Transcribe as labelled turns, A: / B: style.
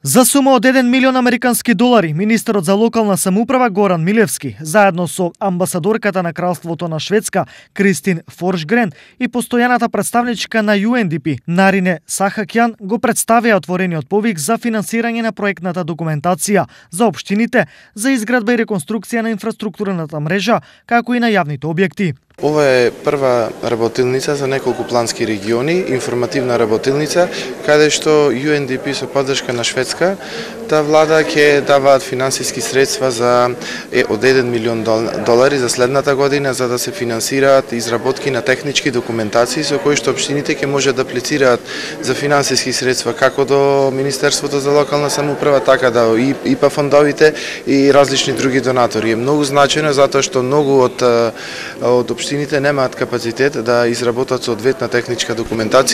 A: За сума од 1 милион американски долари, министерот за локална самоуправа Горан Милевски, заедно со амбасадорката на Кралството на Шведска Кристин Форшгрен и постојаната представничка на UNDP Нарине Сахакјан го представија отворениот повик за финансирање на проектната документација за општините за изградба и реконструкција на инфраструктурната мрежа, како и на јавните објекти.
B: Ова е прва работилница за неколку плански региони, информативна работилница, каде што UNDP со поддршка на Шведска, та влада ќе даваат финансиски средства од 1 милион долари за следната година за да се финансираат изработки на технички документации со кои што општините ќе можат да аплицираат за финансиски средства како до Министерството за локална самоуправа, така да ИПА фондовите и различни други донатори. Е многу значајно затоа што многу од општините немаат капацитет да изработат соодветна техничка документација.